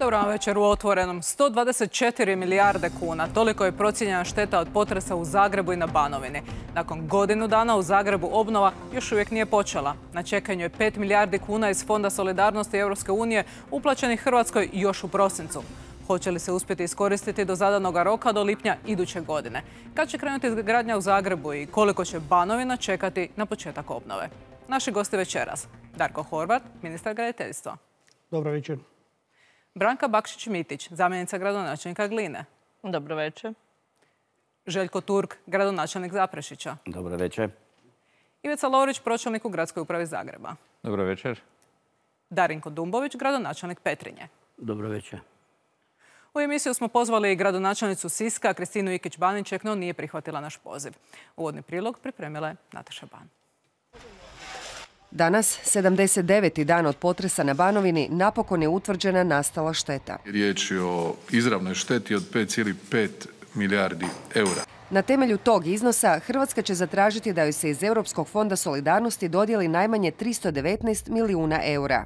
Dobro vam večer u Otvorenom. 124 milijarde kuna. Toliko je procijenjena šteta od potresa u Zagrebu i na Banovini. Nakon godinu dana u Zagrebu obnova još uvijek nije počela. Na čekanju je 5 milijardi kuna iz Fonda solidarnosti Europske unije uplaćenih Hrvatskoj još u prosincu. Hoće li se uspjeti iskoristiti do zadanog roka do lipnja iduće godine? Kad će krenuti izgradnja u Zagrebu i koliko će Banovina čekati na početak obnove? Naši gosti večeras. Darko Horvat, ministar graditeljstva. Dobro večer. Branka Bakšić-Mitić, zamjenica gradonačelnika Gline. Dobro večer. Željko Turk, gradonačelnik Zaprešića. Dobro večer. Ivica Lovrić, pročelnik u Gradskoj upravi Zagreba. Dobro večer. Darinko Dumbović, gradonačelnik Petrinje. Dobro večer. U emisiju smo pozvali gradonačelnicu Siska, Kristinu Ikić-Baniček, no nije prihvatila naš poziv. Uvodni prilog pripremila je Nataša Ban. Danas, 79. dan od potresa na Banovini, napokon je utvrđena nastala šteta. Riječ je o izravnoj šteti od 5,5 milijardi eura. Na temelju tog iznosa Hrvatska će zatražiti da joj se iz Europskog fonda solidarnosti dodijeli najmanje 319 milijuna eura.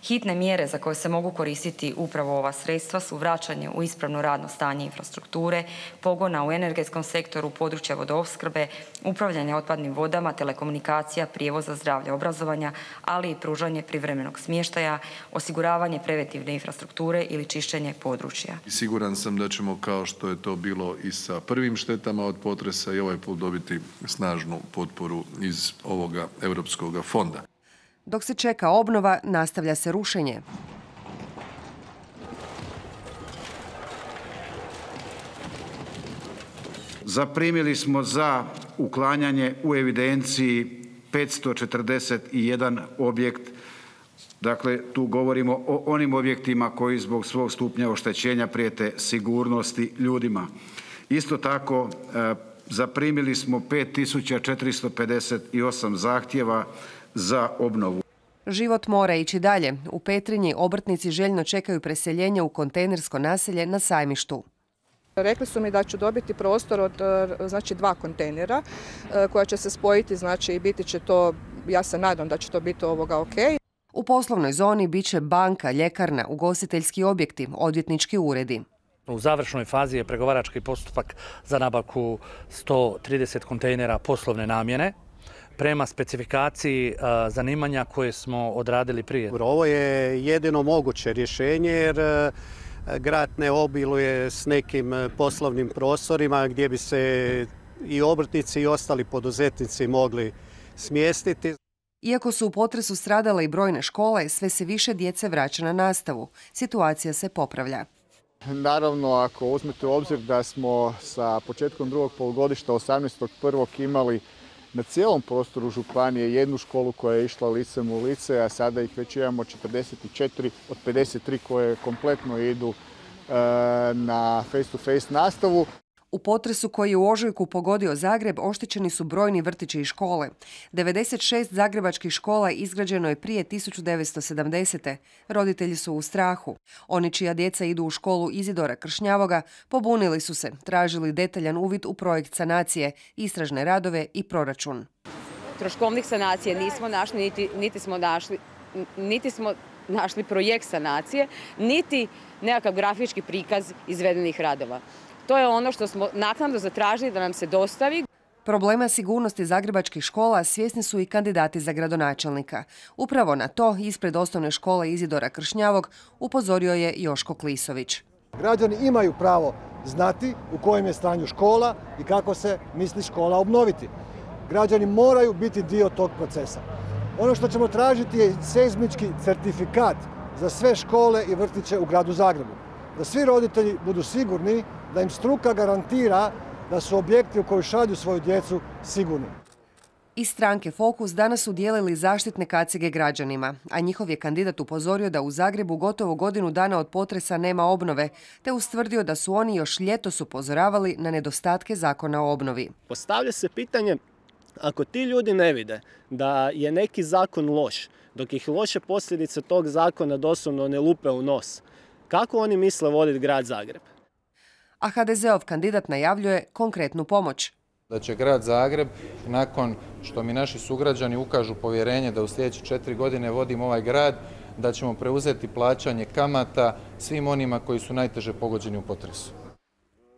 Hitne mjere za koje se mogu koristiti upravo ova sredstva su vraćanje u ispravno radno stanje infrastrukture, pogona u energetskom sektoru, područja vodoopskrbe, upravljanje otpadnim vodama, telekomunikacija, prijevoza, zdravlja, obrazovanja, ali i pružanje privremenog smještaja, osiguravanje preventivne infrastrukture ili čišćenje područja. Siguran sam da ćemo, kao što je to bilo i sa prvim štetama od potresa, i ovaj put dobiti snažnu potporu iz ovoga Europskog fonda. Dok se čeka obnova, nastavlja se rušenje. Zaprimili smo za uklanjanje u evidenciji 541 objekt. Dakle, tu govorimo o onim objektima koji zbog svog stupnja oštećenja prijete sigurnosti ljudima. Isto tako, zaprimili smo 5458 zahtjeva za obnovu. Život mora ići dalje. U Petrinji obrtnici željno čekaju preseljenje u kontejnersko naselje na Sajmištu. Rekli su mi da ću dobiti prostor od 2 kontejnera koja će se spojiti, i biti će to, ja se nadam da će to biti ok. U poslovnoj zoni bit će banka, ljekarna, ugostiteljski objekti, odvjetnički uredi. U završnoj fazi je pregovarački postupak za nabavku 130 kontejnera poslovne namjene prema specifikaciji zanimanja koje smo odradili prije. Ovo je jedino moguće rješenje jer grad ne obiluje s nekim poslovnim prostorima gdje bi se i obrtnici i ostali poduzetnici mogli smjestiti. Iako su u potresu stradale i brojne škole, sve se više djece vraća na nastavu. Situacija se popravlja. Naravno, ako uzmete u obzir da smo sa početkom drugog polugodišta 18.1. imali na cijelom prostoru županije jednu školu koja je išla licem u lice, a sada ih već imamo 44 od 53 koje kompletno idu na face-to-face nastavu. U potresu koji je u ožujku pogodio Zagreb oštećeni su brojni vrtići i škole. 96 zagrebačkih škola izgrađeno je prije 1970. Roditelji su u strahu. Oni čija djeca idu u školu Izidora Kršnjavoga pobunili su se, tražili detaljan uvid u projekt sanacije, istražne radove i proračun. Troškovnik sanacije nismo našli, niti smo našli projekt sanacije, niti nekakav grafički prikaz izvedenih radova. To je ono što smo naknadno zatražili da nam se dostavi. Problema sigurnosti zagrebačkih škola svjesni su i kandidati za gradonačelnika. Upravo na to ispred osnovne škole Izidora Kršnjavog upozorio je Joško Klisović. Građani imaju pravo znati u kojem je stanju škola i kako se misli škola obnoviti. Građani moraju biti dio tog procesa. Ono što ćemo tražiti je seizmički certifikat za sve škole i vrtiće u gradu Zagrebu. Da svi roditelji budu sigurni da im struka garantira da su objekti u koji šalju svoju djecu sigurni. Iz stranke Fokus danas su dijelili zaštitne kacige građanima, a njihov je kandidat upozorio da u Zagrebu gotovo godinu dana od potresa nema obnove, te ustvrdio da su oni još ljetos upozoravali na nedostatke zakona o obnovi. Postavlja se pitanje, ako ti ljudi ne vide da je neki zakon loš, dok ih loše posljedice tog zakona doslovno ne lupe u nos, kako oni misle voditi grad Zagreb? A HDZ-ov kandidat najavljuje konkretnu pomoć. Da će grad Zagreb, nakon što mi naši sugrađani ukažu povjerenje da u sljedeće 4 godine vodim ovaj grad, da ćemo preuzeti plaćanje kamata svim onima koji su najteže pogođeni u potresu.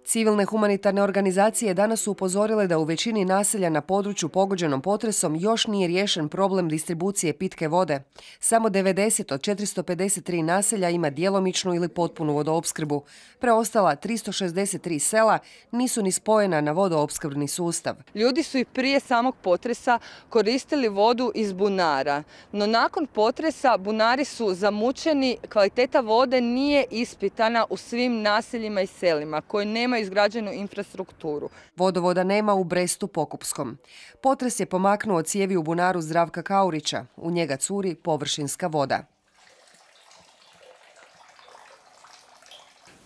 Civilne humanitarne organizacije danas su upozorile da u većini naselja na području pogođenom potresom još nije riješen problem distribucije pitke vode. Samo 90 od 453 naselja ima djelomičnu ili potpunu vodoopskrbu. Preostala 363 sela nisu ni spojena na vodoopskrbni sustav. Ljudi su i prije samog potresa koristili vodu iz bunara, no nakon potresa bunari su zamućeni, kvaliteta vode nije ispitana u svim naseljima i selima koji nemaju izgrađenu infrastrukturu. Vodovoda nema u Brestu Pokupskom. Potres je pomaknuo cijevi u bunaru Zdravka Kaurića. U njega curi površinska voda.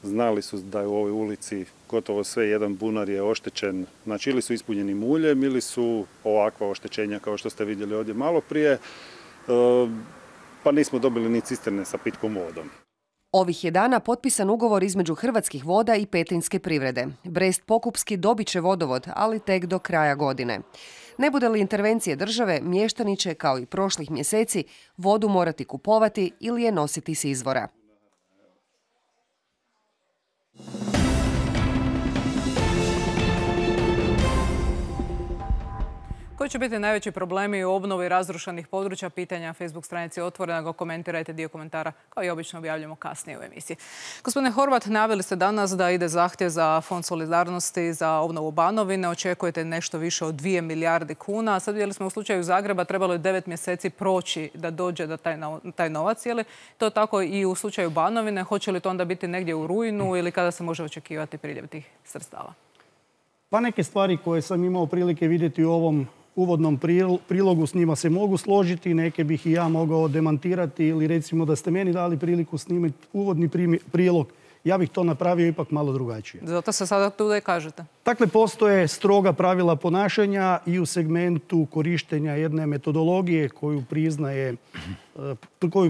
Znali su da je u ovoj ulici gotovo sve, jedan bunar je oštećen. Znači ili su ispunjeni muljem ili su ovakva oštećenja kao što ste vidjeli ovdje malo prije, pa nismo dobili ni cisterne sa pitkom vodom. Ovih je dana potpisan ugovor između Hrvatskih voda i Petrinjske privrede. Brest Pokupski dobit će vodovod, ali tek do kraja godine. Ne bude li intervencije države, mještani će, kao i prošlih mjeseci, vodu morati kupovati ili je nositi s izvora. Koji će biti najveći problemi u obnovi razrušenih područja? Pitanja Facebook stranici Otvorena, ga komentirajte, dio komentara kao i obično objavljamo kasnije u emisiji. Gospodine Horvat, najavili ste danas da ide zahtjev za Fond solidarnosti za obnovu Banovine. Očekujete nešto više od 2 milijarde kuna. Sad vidjeli smo u slučaju Zagreba trebalo je 9 mjeseci proći da dođe do taj novac. Je li to tako i u slučaju Banovine? Hoće li to onda biti negdje u rujnu ili kada se može očekivati priljev tih sredstava? Pa neke stvari koje sam imao prilike vidjeti u ovom uvodnom prilogu, s njima se mogu složiti, neke bih i ja mogao demantirati ili recimo da ste meni dali priliku snimiti uvodni prilog, ja bih to napravio ipak malo drugačije. Zato se sada tu da i kažete. Dakle, postoje stroga pravila ponašanja i u segmentu korištenja jedne metodologije koju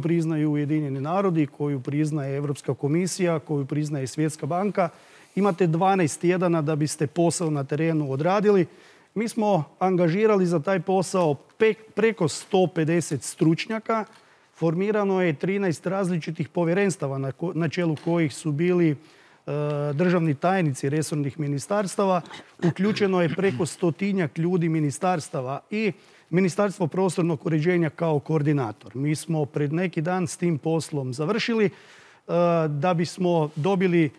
priznaju Ujedinjeni narodi, koju priznaje Europska komisija, koju priznaje Svjetska banka. Imate 12 tjedana da biste posao na terenu odradili. Mi smo angažirali za taj posao preko 150 stručnjaka. Formirano je 13 različitih povjerenstava na čelu kojih su bili državni tajnici resornih ministarstava. Uključeno je preko 100-tinjak ljudi ministarstava i Ministarstvo prostornog uređenja kao koordinator. Mi smo pred neki dan s tim poslom završili da bismo dobili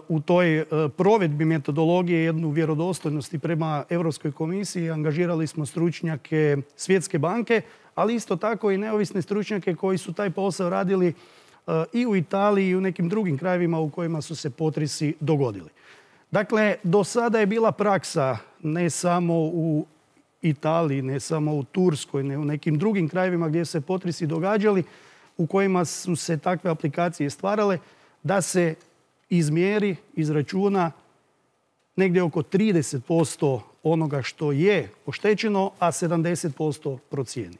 u toj provedbi metodologije jednu vjerodostojnost i prema Europskoj komisiji. Angažirali smo stručnjake Svjetske banke, ali isto tako i neovisne stručnjake koji su taj posao radili i u Italiji i u nekim drugim krajevima u kojima su se potresi dogodili. Dakle, do sada je bila praksa ne samo u Italiji, ne samo u Turskoj, ne u nekim drugim krajevima gdje se potresi događali, u kojima su se takve aplikacije stvarale, da se izmjeri, izračuna negdje oko 30% onoga što je oštećeno, a 70% procijeni.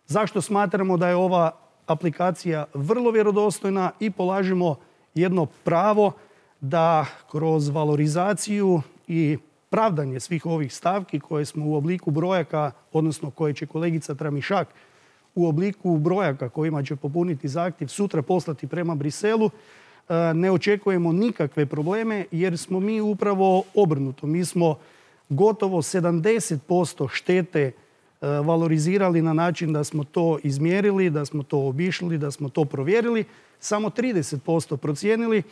Zašto smatramo da je ova aplikacija vrlo vjerodostojna i polažemo jedno pravo da kroz valorizaciju i pravdanje svih ovih stavki koje smo u obliku brojaka, odnosno koje će kolegica Tramišak u obliku brojaka kojima će popuniti zahtjev sutra poslati prema Briselu, ne očekujemo nikakve probleme jer smo mi upravo obrnuto. Mi smo gotovo 70% štete valorizirali na način da smo to izmjerili, da smo to obišli, da smo to provjerili, samo 30% procijenili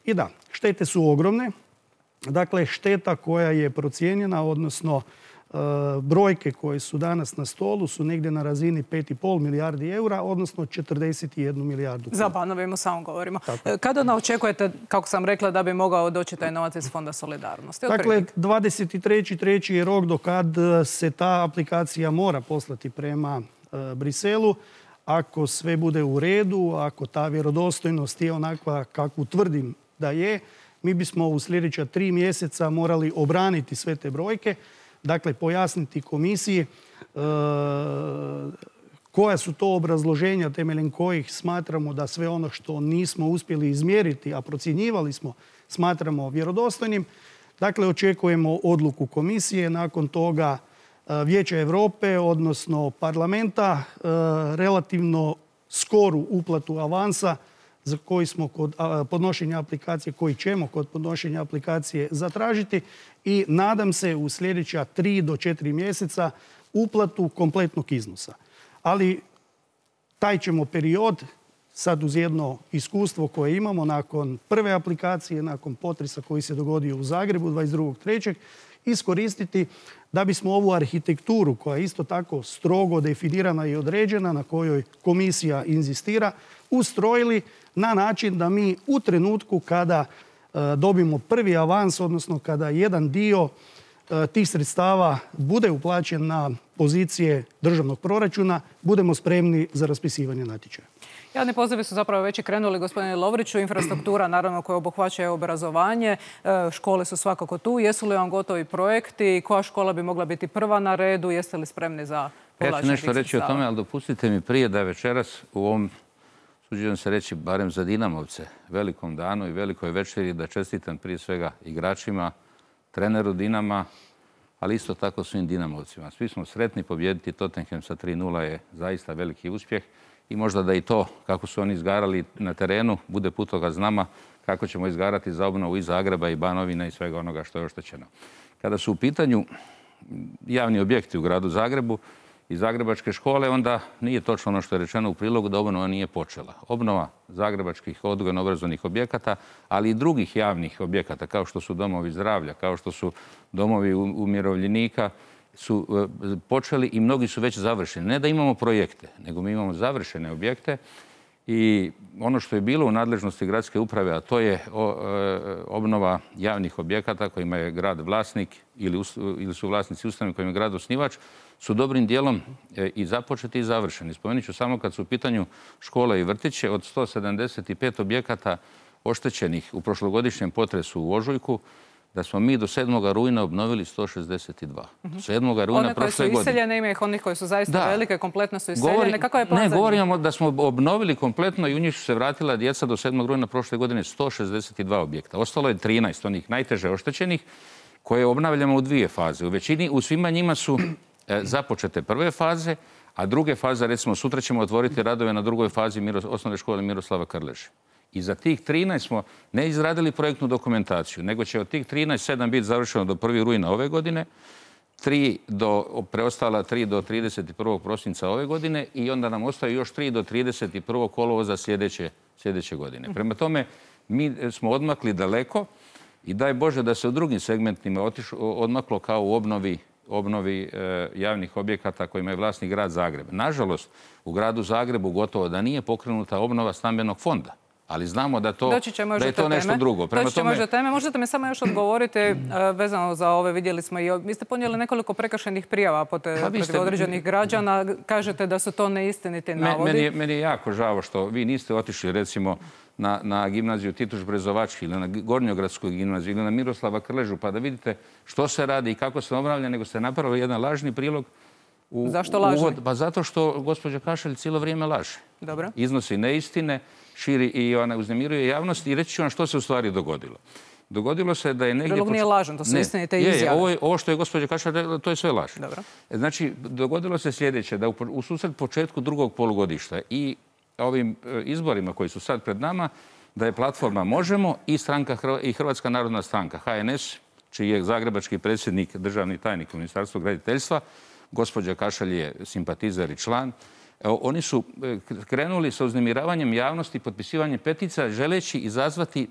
i da, štete su ogromne. Dakle, šteta koja je procijenjena, odnosno brojke koje su danas na stolu su negdje na razini 5,5 milijardi eura, odnosno 41 milijardu kuna. Za Banovinu samo govorimo. Kada očekujete, kako sam rekla, da bi mogao doći taj novac iz Fonda solidarnosti? Dakle, 23.3. je rok do kad se ta aplikacija mora poslati prema Briselu. Ako sve bude u redu, ako ta vjerodostojnost je onakva kakvu tvrdim da je, mi bismo u sljedeća 3 mjeseca morali obraniti sve te brojke. Dakle, pojasniti komisiji koja su to obrazloženja temeljem kojih smatramo da sve ono što nismo uspjeli izmjeriti, a procjenjivali smo, smatramo vjerodostojnim. Dakle, očekujemo odluku komisije, nakon toga Vijeća Europe, odnosno parlamenta. Relativno skoru uplatu avansa za koji smo kod podnošenja aplikacije, koji ćemo kod podnošenja aplikacije zatražiti i nadam se u sljedeća 3 do 4 mjeseca uplatu kompletnog iznosa. Ali taj ćemo period, sad uz jedno iskustvo koje imamo nakon prve aplikacije, nakon potresa koji se dogodio u Zagrebu 22.3. iskoristiti da bismo ovu arhitekturu koja je isto tako strogo definirana i određena, na kojoj komisija inzistira, ustrojili na način da mi u trenutku kada dobimo prvi avans, odnosno kada jedan dio tih sredstava bude uplaćen na pozicije državnog proračuna, budemo spremni za raspisivanje natječaja. Javni pozivi su zapravo već i krenuli, gospodine Lovriću. Infrastruktura, naravno, koja obuhvaća obrazovanje. Škole su svakako tu. Jesu li vam gotovi projekti? Koja škola bi mogla biti prva na redu? Jeste li spremni za povlačenje tih sredstava? Ja ću nešto reći o tome, ali dopustite mi prije da večeras u ovom, suđujem se reći, barem za Dinamovce, velikom danu i velikoj večeri, da čestitam prije svega igračima, treneru Dinama, ali isto tako svim Dinamovcima. Svi smo sretni, pobijediti Tottenham sa 3:0 je zaista veliki uspjeh i možda da i to, kako su oni izgarali na terenu, bude putokaz nama kako ćemo izgarati za obnovu i Zagreba i Banovina i svega onoga što je oštećeno. Kada su u pitanju javni objekti u gradu Zagrebu i zagrebačke škole, onda nije točno ono što je rečeno u prilogu da obnova nije počela. Obnova zagrebačkih odgojno-obrazovnih objekata, ali i drugih javnih objekata, kao što su domovi zdravlja, kao što su domovi umirovljenika, su počeli i mnogi su već završeni. Ne da imamo projekte, nego mi imamo završene objekte i ono što je bilo u nadležnosti gradske uprave, a to je obnova javnih objekata kojima je grad vlasnik ili su vlasnici ustanove kojima je grad osnivač, su dobrim dijelom i započeti i završeni. Spomenut ću samo kad su u pitanju škole i vrtiće, od 175 objekata oštećenih u prošlogodišnjem potresu u ožujku, da smo mi do 7. rujna obnovili 162. Do 7. rujna prošle godine. One koje su iseljene, ima ih onih koji su zaista velike, kompletno su iseljene. Kakav je plan za njih? Ne, govorimo da smo obnovili kompletno i u njih su se vratila djeca do 7. rujna prošle godine 162 objekta. Ostalo je 13 onih najteže oštećenih koje obnavljamo u 2 faze. U svima njima su započete prve faze, a druge faze, recimo sutra ćemo otvoriti radove na drugoj fazi osnovne škole Miroslava Krleže. I za tih 13 smo ne izradili projektnu dokumentaciju, nego će od tih 13 7 biti završeno do 1. rujna ove godine, preostala 3 do 31. prosinca ove godine i onda nam ostaju još 3 do 31. kolovoza sljedeće godine. Prema tome, mi smo odmakli daleko i daj Bože da se u drugim segmentima odmaklo kao u obnovi javnih objekata kojima je vlasnik grad Zagreb. Nažalost, u gradu Zagrebu gotovo da nije pokrenuta obnova stambenog fonda. Ali znamo da je to nešto drugo. Doći ćemo još do teme. Možete mi samo još odgovoriti vezano za ove, vidjeli smo i vi ste ponijeli nekoliko prekršajnih prijava protiv određenih građana. Kažete da su to neistiniti navodi. Meni je jako žao što vi niste otišli recimo na gimnaziju Tituš Brezovački ili na Gornjogradsku gimnaziju ili na Miroslava Krležu pa da vidite što se radi i kako se obnavlja, nego ste napravili jedan lažni prilog. Zašto lažni? Pa zato što gospođa Kašelj cijelo vrijeme laže. Dobro. Iznosi neistine, širi i ona uznemiruje javnost i reći ću vam što se u stvari dogodilo. Dogodilo se da je negdje... Prilog nije lažan, to su istinite izjave. Ovo što je gospođa Kašelj rekla, to je sve laž. Dobro. Znači, dogodilo se sljedeće, da u susret početku drugog polugodišta i ovim izborima koji su sad pred nama, da je platforma Možemo i Hrvatska narodna stranka, HNS, čiji je zagrebački predsjednik, državni tajnik u Ministarstvu graditeljstva, gospođa Kašelj je simpatizer i član. Oni su krenuli sa uznemiravanjem javnosti, potpisivanjem petica, želeći izazvati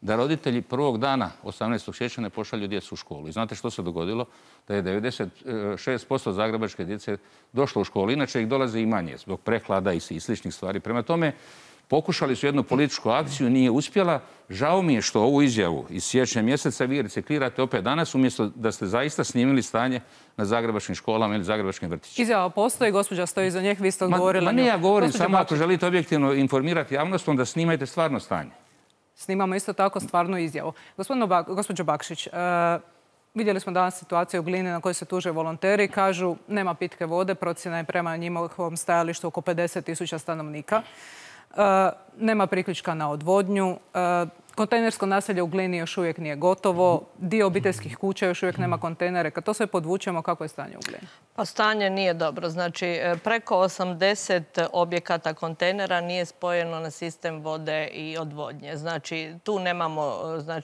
da roditelji prvog dana 18. siječnja ne pošalju djecu u školu. I znate što se dogodilo? Da je 96% zagrebačke djece došlo u školu. Inače ih dolaze i manje zbog prehlada i sličnih stvari. Prema tome, pokušali su jednu političku akciju, nije uspjela. Žao mi je što ovu izjavu iz siječnja mjeseca vi reciklirate opet danas, umjesto da ste zaista snimili stanje na zagrebačkim školama ili zagrebačkim vrtićima. Izjava postoji, gospođa stoji iza njih, vi ste odgovorili. Ne, ja govorim samo ako želite objektivno informirati javnost, onda snimajte stvarno stanje. Snimamo isto tako stvarnu izjavu. Gospođo Bakšić, vidjeli smo danas situaciju u Glini na kojoj se tuže volonteri. Kažu nema pitke vode, procjena je prema njihovom stajalištu oko 50.000 stanovnika. Nema priključka na odvodnju. Kontejnersko naselje u Glini još uvijek nije gotovo. Dio obiteljskih kuća još uvijek nema kontejnere. Kad to sve podvučemo, kako je stanje u Glini? Pa stanje nije dobro. Znači, preko 80 objekata kontejnera nije spojeno na sistem vode i odvodnje. Znači, tu nemamo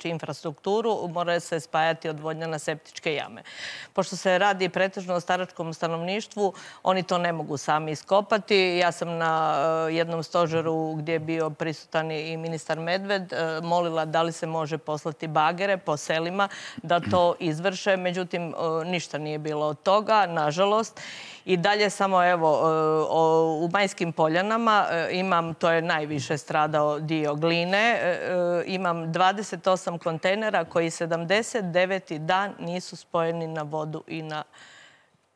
infrastrukturu, mora se spajati odvodnja na septičke jame. Pošto se radi pretežno o staračkom stanovništvu, oni to ne mogu sami iskopati. Ja sam na jednom stožeru gdje je bio prisutan i ministar Medved molila da li se može poslati bagere po selima da to izvrše. Međutim, ništa nije bilo od toga, nažalost. I dalje samo u Majskim Poljanama imam, to je najviše stradao dio Gline, imam 28 kontejnera koji 79. dan nisu spojeni na vodu i na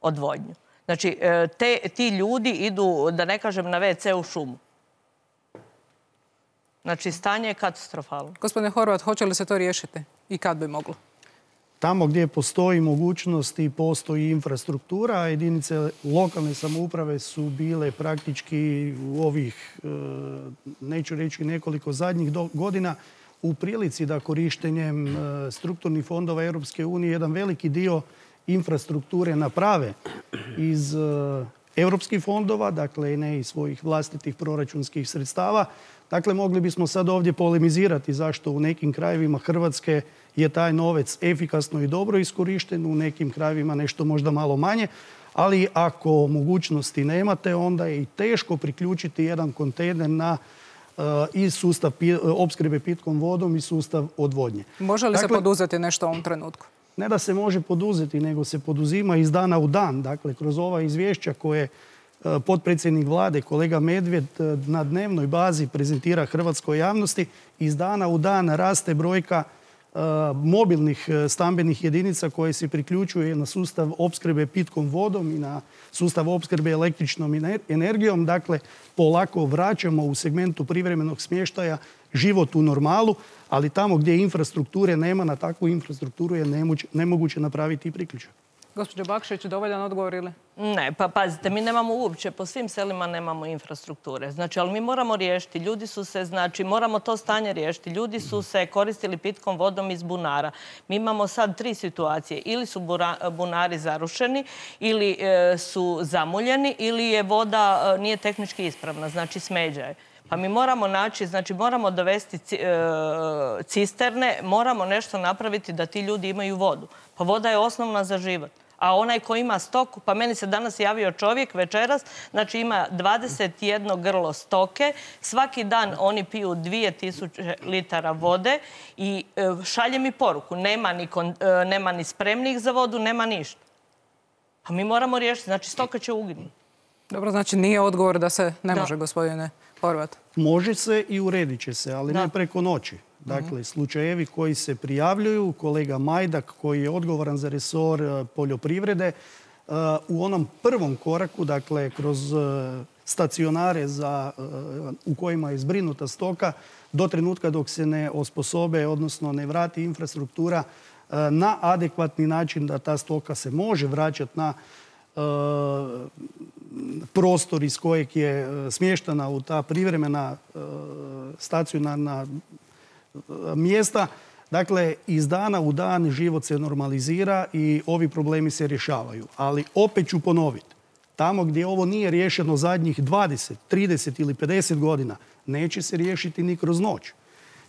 odvodnju. Znači, ti ljudi idu, da ne kažem, na WC u šumu. Znači, stanje je katastrofalno. Gospodine Horvat, hoće li se to riješiti i kad bi moglo? Tamo gdje postoji mogućnost i postoji infrastruktura, jedinice lokalne samouprave su bile praktički u ovih, neću reći nekoliko zadnjih godina, u prilici da korištenjem strukturnih fondova Europske unije jedan veliki dio infrastrukture naprave iz europskih fondova, dakle ne iz svojih vlastitih proračunskih sredstava. Dakle, mogli bismo sad ovdje polemizirati zašto u nekim krajevima Hrvatske je taj novac efikasno i dobro iskorišten, u nekim krajevima nešto možda malo manje, ali ako mogućnosti nemate, onda je i teško priključiti jedan kontejner na i sustav opskrbe pitkom vodom i sustav odvodnje. Može li se poduzeti nešto u ovom trenutku? Ne da se može poduzeti, nego se poduzima iz dana u dan. Dakle, kroz ova izvješća koje potpredsjednik vlade, kolega Medved, na dnevnoj bazi prezentira hrvatskoj javnosti, iz dana u dan raste brojka mobilnih stambenih jedinica koje se priključuje na sustav opskrbe pitkom vodom i na sustav opskrbe električnom energijom. Dakle, polako vraćamo u segmentu privremenog smještaja život u normalu, ali tamo gdje infrastrukture nema, na takvu infrastrukturu je nemoguće napraviti i priključak. Gospođo Bakšić, dovoljan odgovor ili? Ne, pa pazite, mi nemamo uopće, po svim selima nemamo infrastrukture. Znači, ali mi moramo riješiti. Ljudi su se, znači, moramo to stanje riješiti. Ljudi su se koristili pitkom vodom iz bunara. Mi imamo sad 3 situacije. Ili su bunari zarušeni, ili su zamuljeni, ili je voda nije tehnički ispravna, znači smeđa je. Pa mi moramo naći, znači moramo dovesti cisterne, moramo nešto napraviti da ti ljudi imaju vodu. Pa voda je osnovna za život. A onaj ko ima stoku, pa meni se danas javio čovjek večeras, znači ima 21 grlo stoke, svaki dan oni piju 2000 litara vode i šalje mi poruku, nema ni spremnih za vodu, nema ništa. Pa mi moramo riješiti, znači stoka će uginuti. Dobro, znači nije odgovor da se ne može, gospodine Horvat. Može se i uredit će se, ali ne preko noći. Dakle, slučajevi koji se prijavljuju, kolega Majdak koji je odgovoran za resor poljoprivrede, u onom prvom koraku, dakle, kroz stacionare u kojima je zbrinuta stoka, do trenutka dok se ne osposobe, odnosno ne vrati infrastruktura na adekvatni način da ta stoka se može vraćati na prostor iz kojeg je smještena u ta privremena stacionarna mjesta. Dakle, iz dana u dan život se normalizira i ovi problemi se rješavaju. Ali opet ću ponoviti, tamo gdje ovo nije riješeno zadnjih 20, 30 ili 50 godina, neće se riješiti ni kroz noć.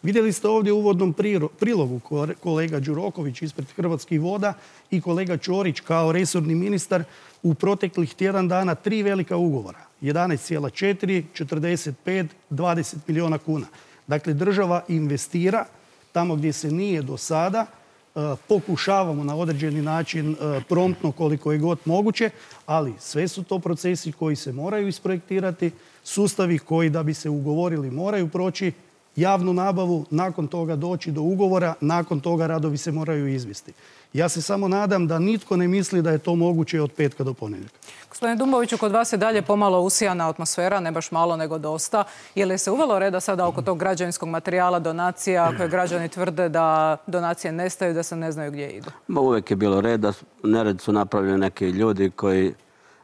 Vidjeli ste ovdje u uvodnom prilogu kolega Đuroković ispred Hrvatskih voda i kolega Ćorić kao resorni ministar u proteklih tjedan dana 3 velika ugovora. 11,4, 45, 20 milijuna kuna. Dakle, država investira tamo gdje se nije do sada. Pokušavamo na određeni način promptno koliko je god moguće, ali sve su to procesi koji se moraju isprojektirati, sustavi koji da bi se ugovorili moraju proći javnu nabavu, nakon toga doći do ugovora, nakon toga radovi se moraju izvesti. Ja se samo nadam da nitko ne misli da je to moguće od petka do ponedjeljka. Gospodine Dumboviću, kod vas je dalje pomalo usijana atmosfera, ne baš malo nego dosta. Je li se uvelo reda sada oko tog građevinskog materijala, donacija, koje građani tvrde da donacije nestaju, da se ne znaju gdje idu? Uvijek je bilo reda. Nered su napravljeni neki ljudi koji,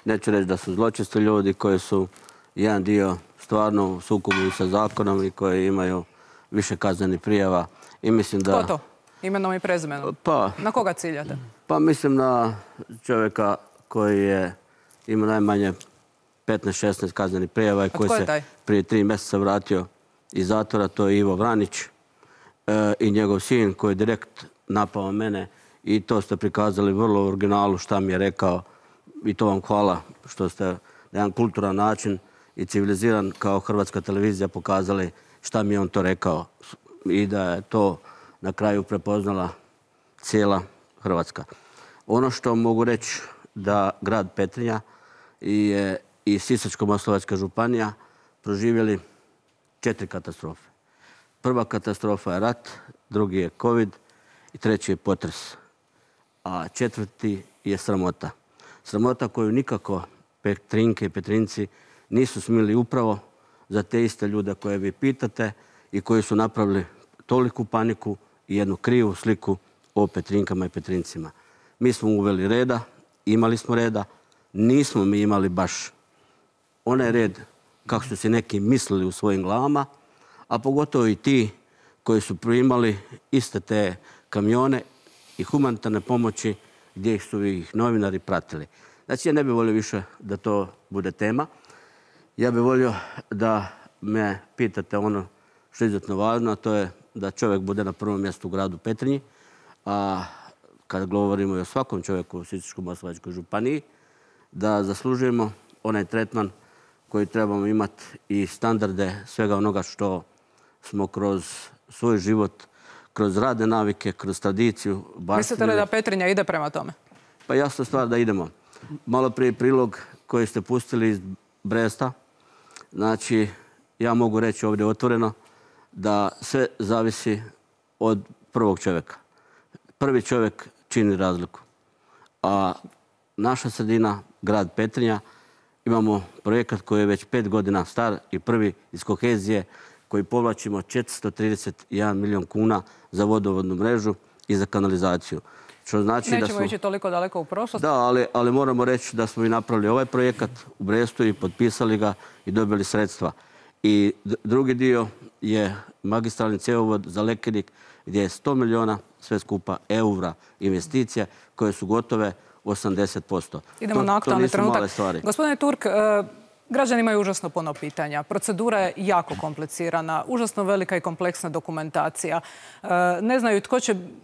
neću reći da su zločesti ljudi, koji su jedan dio stvarno u sukobu sa zakonom i koji imaju više kaznenih prijava. I mislim da... Ko to? Imenom i prezimenom? Na koga ciljate? Pa mislim na čovjeka koji je imao najmanje 15-16 kaznenih prijava i koji se prije 3 mjeseca vratio iz zatvora. To je Ivo Vranić i njegov sin koji je direkt napao mene i to ste prikazali vrlo u originalu šta mi je rekao i to vam hvala što ste na jedan kulturan način i civiliziran kao Hrvatska televizija pokazali šta mi je on to rekao i da je to na kraju prepoznala cijela Hrvatska. Ono što mogu reći da grad Petrinja i Sisačko-moslavačka županija proživjeli 4 katastrofe. Prva katastrofa je rat, drugi je COVID i treći je potres. A četvrti je sramota. Sramota koju nikako Petrinke i Petrinci nisu smjeli upravo za te iste ljude koje vi pitate i koji su napravili toliku paniku i jednu krivu sliku o Petrinkama i Petrincima. Mi smo uveli reda, imali smo reda, nismo mi imali baš onaj red kako su si neki mislili u svojim glavama, a pogotovo i ti koji su primali iste te kamione i humanitarne pomoći gdje su ih novinari pratili. Znači, ja ne bih volio više da to bude tema. Ja bih volio da me pitate ono što je izuzetno važno, a to je da čovjek bude na prvom mjestu u gradu Petrinji, a kada govorimo i o svakom čovjeku u Sisačko-moslavačkoj županiji, da zaslužujemo onaj tretman koji trebamo imati i standarde svega onoga što smo kroz svoj život, kroz radne navike, kroz tradiciju baštinili. Mislite li da Petrinja ide prema tome? Pa jasna stvar da idemo. Malo prije prilog koji ste pustili iz Bresta, znači ja mogu reći ovdje otvoreno da sve zavisi od prvog čovjeka. Prvi čovjek čini razliku. A naša sredina, grad Petrinja, imamo projekat koji je već 5 godina star i prvi iz kohezije koji povlačimo 431 milijun kuna za vodovodnu mrežu i za kanalizaciju. Što znači nećemo ići toliko daleko u prošlost. Da, ali moramo reći da smo i napravili ovaj projekat u Brestu i potpisali ga i dobili sredstva. I drugi dio je magistralni cjevovod za Lekenik gdje je 100 milijuna sve skupa eura investicija koje su gotove 80%. Idemo na aktualni trenutak. Gospodine Turk, građani imaju užasno puno pitanja. Procedura je jako komplicirana, užasno velika i kompleksna dokumentacija. Ne znaju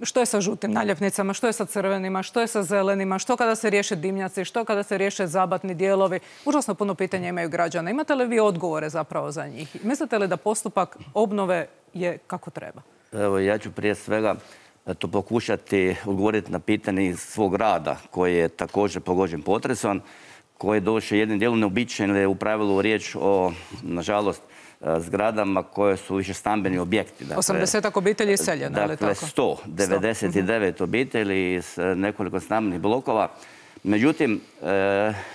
što je sa žutim naljepnicama, što je sa crvenima, što je sa zelenima, što kada se riješe dimnjaci, što kada se riješe zabatni dijelovi. Užasno puno pitanja imaju građana. Imate li vi odgovore zapravo za njih? Mislite li da postupak obnove je kako treba? Evo, ja ću prije svega to pokušati odgovoriti na pitanje iz svog rada koji je također pogođen potresom, koji je došao jednim dijelom neobičajen, jer je u pravilu riječ o, nažalost, zgradama koje su više stambeni objekti. 80 obitelji iseljeno, ali tako? Dakle, 199 obitelji iz nekoliko stambenih blokova. Međutim,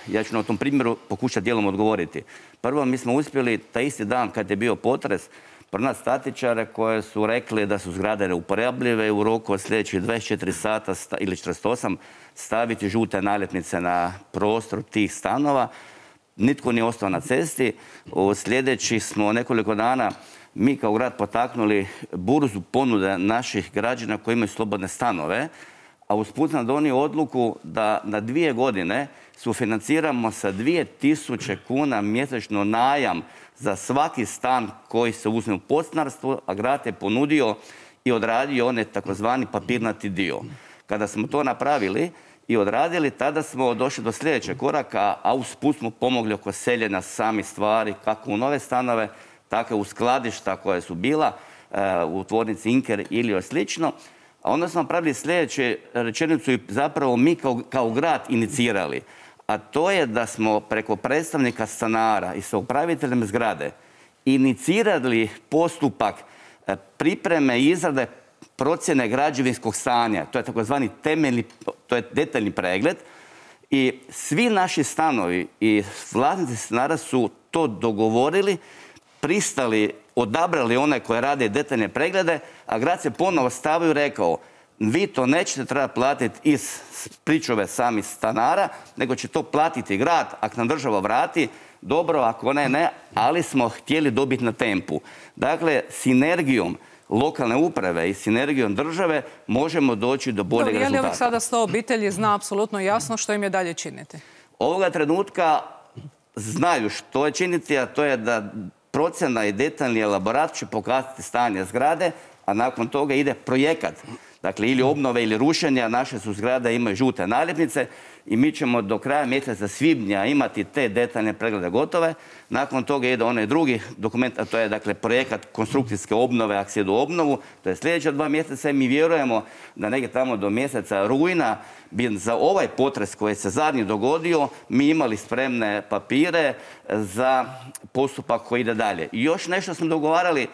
ja ću na tom primjeru pokušati dijelom odgovoriti. Prvo, mi smo uspjeli taj isti dan kad je bio potres pronaći statičare koje su rekli da su zgrade neuporabljive u roku od sljedećih 24 sata ili 48 staviti žute naljepnice na prostor tih stanova. Nitko nije ostao na cesti. U sljedećih smo nekoliko dana mi kao grad potaknuli burzu ponude naših građana koji imaju slobodne stanove, a usput sam donio odluku da na 2 godine sufinanciramo sa 2000 kuna mjesečno najam za svaki stan koji se uzme u podstanarstvo, a grad je ponudio i odradio onaj takozvani papirnati dio. Kada smo to napravili i odradili, tada smo došli do sljedećeg koraka, a usput smo pomogli oko seljenja samih stvari, kako u nove stanove, tako u skladišta koja su bila u tvornici Inker ili slično. A onda smo napravili sljedeću rečenicu i zapravo mi kao grad inicirali. A to je da smo preko predstavnika stanara i sa upraviteljem zgrade inicirali postupak pripreme i izrade procjene građevinskog stanja. To je takozvani to je detaljni pregled. I svi naši stanovi i vlasnici stanara su to dogovorili, pristali, odabrali one koje rade detaljne preglede, a grad se ponovo stavio i rekao vi to nećete trebati platiti iz pričuve samih stanara, nego će to platiti grad, ako nam država vrati, dobro, ako ne, ali smo htjeli dobiti na tempu. Dakle, sinergijom lokalne uprave i sinergijom države možemo doći do boljeg rezultata. Je li ovih sada 100 obitelji zna apsolutno jasno što im je dalje činiti? Ovoga trenutka znaju što je činiti, a to je da procjena i detaljni elaborat će pokazati stanje zgrade, a nakon toga ide projekat. Dakle, ili obnove ili rušenja, naše su zgrade imaju žute naljepnice i mi ćemo do kraja mjeseca svibnja imati te detaljne preglede gotove. Nakon toga ide onaj drugi dokument, a to je dakle projekat konstrukcijske obnove, ako se ide u obnovu. To je sljedeća 2 mjeseca i mi vjerujemo da negdje tamo do mjeseca rujna bi za ovaj potres koji se zadnji dogodio mi imali spremne papire za postupak koji ide dalje. I još nešto smo dogovarali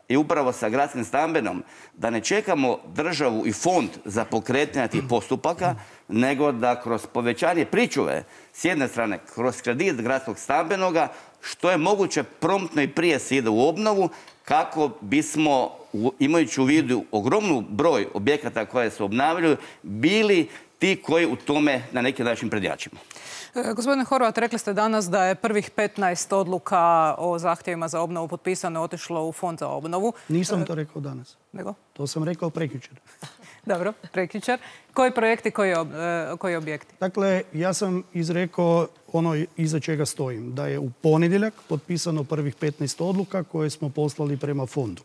i upravo sa gradskim stambenom, da ne čekamo državu i fond za pokretanje tih postupaka, nego da kroz povećanje pričuve, s jedne strane, kroz kredit gradskog stambenoga, što je moguće promptno i prije se ide u obnovu, kako bismo, imajući u vidu ogromnu broj objekata koje se obnavljaju, bili ti koji u tome na neki način prednjačimo. Gospodine Horvat, rekli ste danas da je prvih 15 odluka o zahtjevima za obnovu potpisano, otišlo u fond za obnovu. Nisam to rekao danas. Nego? To sam rekao prekjučer. Dobro, prekjučer. Koji projekti, koji objekti? Dakle, ja sam izrekao ono iza čega stojim. Da je u ponedjeljak potpisano prvih 15 odluka koje smo poslali prema fondu.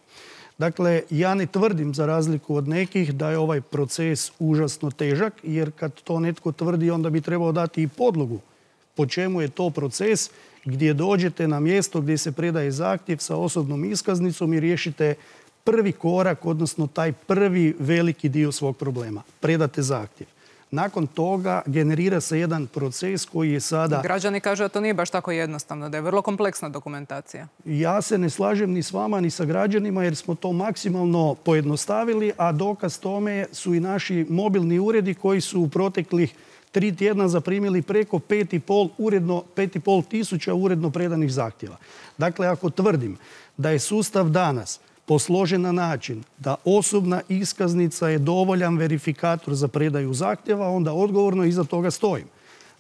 Dakle, ja ne tvrdim, za razliku od nekih, da je ovaj proces užasno težak, jer kad to netko tvrdi, onda bi trebao dati i podlogu po čemu je to proces gdje dođete na mjesto gdje se predaje zahtjev sa osobnom iskaznicom i riješite prvi korak, odnosno taj prvi veliki dio svog problema. Predate zahtjev. Nakon toga generira se jedan proces koji je sada... Građani kažu da to nije baš tako jednostavno, da je vrlo kompleksna dokumentacija. Ja se ne slažem ni s vama, ni sa građanima, jer smo to maksimalno pojednostavili, a dokaz tome su i naši mobilni uredi koji su u proteklih 3 tjedna zaprimili preko 5,5 tisuća uredno predanih zahtjeva. Dakle, ako tvrdim da je sustav danas posložen na način da osobna iskaznica je dovoljan verifikator za predaju zahtjeva, onda odgovorno iza toga stojim.